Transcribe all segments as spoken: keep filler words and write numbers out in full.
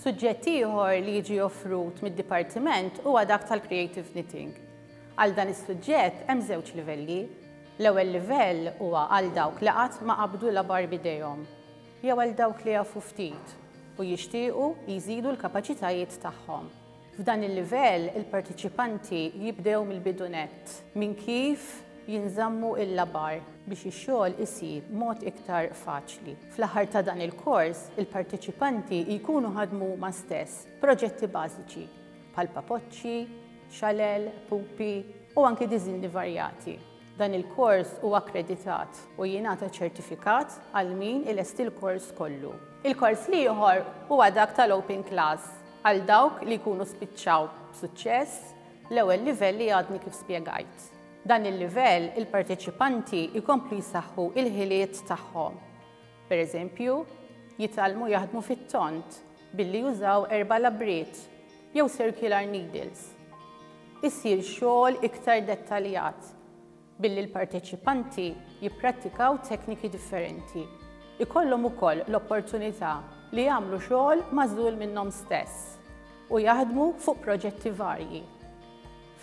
Suġġett ieħor li jiġi offrut mid-dipartiment huwa dak tal-creative knitting. Għal dan is-suġġett hemm żewġ livelli. L-ewwel livell huwa għal dawk li qatt ma qabdu labar b'idejhom, jew għal dawk li jafu ftit u jixtiequ jżidu l-kapaċitajiet tagħhom. F'dan il-livell il-partiċipanti jibdew mill-bidu nett minn kif jinżammu il-labar biex ix-xogħol isir mod iktar faċli. Fl-aħħar ta' dan il-kors, il-partiċipanti jkunu ħadmu huma stess proġetti bażiċi bħal papoċċi, xalel, pupi u anki diżinni varjati. Dan il-kors huwa akkreditat u jingħata ċertifikat għal min ilesti l-kors kollu. Il-kors l-ieħor huwa dak tal-Open Class għal dawk li jkunu spiċċaw b'suċċess l-ewwel livell li għadni kif spjegajt. Dan il-livell il-parteċipanti jkomplu jsaħħu il-ħiliet tagħhom. Per eżempju, jitgħallmu jaħdmu fit-tont billi jużaw erba' labriet jew circular needles. Isir xogħol iktar dettaljat billi l-parteċipanti jipprattikaw tekniki differenti. Ikollhom ukoll l-opportunità li jagħmlu xogħol magħżul minnhom stess u jaħdmu fuq proġetti varji.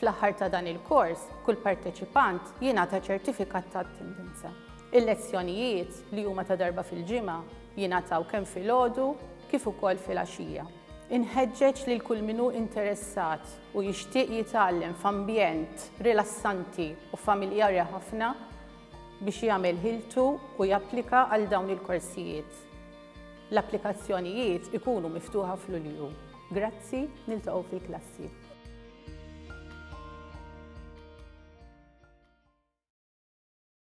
Fl-aħħar ta' dan il-kors, kull parteċipant jingħata ċertifikat ta' attendenza. Il-lezzjonijiet li huma ta' darba fil-ġimgħa jingħataw kemm filgħodu kif ukoll filgħaxija. Inħeġġeġ lil kull min hu interessat u jixtieq jitgħallem f'ambjent rilassanti u familjari ħafna biex jagħmel ħiltu u japplika għal dawn il-korsijiet. L-applikazzjonijiet ikunu miftuħa f'Lulju. Grazzi, niltaqgħu fil-klassi.